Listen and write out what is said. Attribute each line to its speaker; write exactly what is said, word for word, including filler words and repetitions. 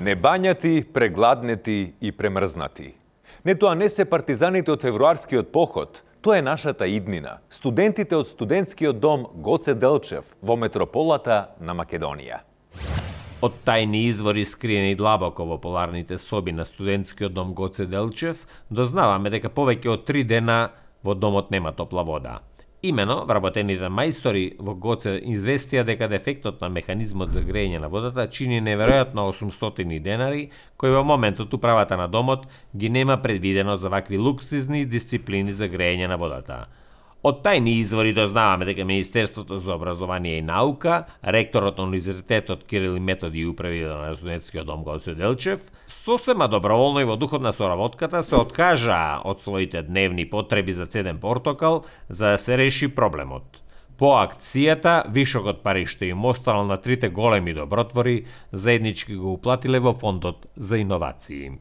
Speaker 1: Небањати, прегладнети и премрзнати. Не тоа не се партизаните од февруарскиот поход, тоа е нашата иднина. Студентите од студентскиот дом Гоце Делчев во метрополата на Македонија.
Speaker 2: Од тајни извори скриени длабоко во поларните соби на студентскиот дом Гоце Делчев, дознаваме дека повеќе од три дена во домот нема топла вода. Имено, вработените мајстори во Гоце известија дека дефектот на механизмот за грејење на водата чини неверојатно осумстотини денари, кои во моментот управата на домот ги нема предвидено за вакви луксизни дисциплини за грејење на водата. Од тајни извори дознаваме дека Министерството за образование и наука, ректорот на Универзитетот Кирил и Методи и управител на студентскиот дом Гоце Делчев, сосема доброволно и во духот на соработката се откажаа од своите дневни потреби за цеден портокал за да се реши проблемот. По акцијата, вишокот пари што им останал на трите големи добротвори, заеднички го уплатиле во фондот за иновации.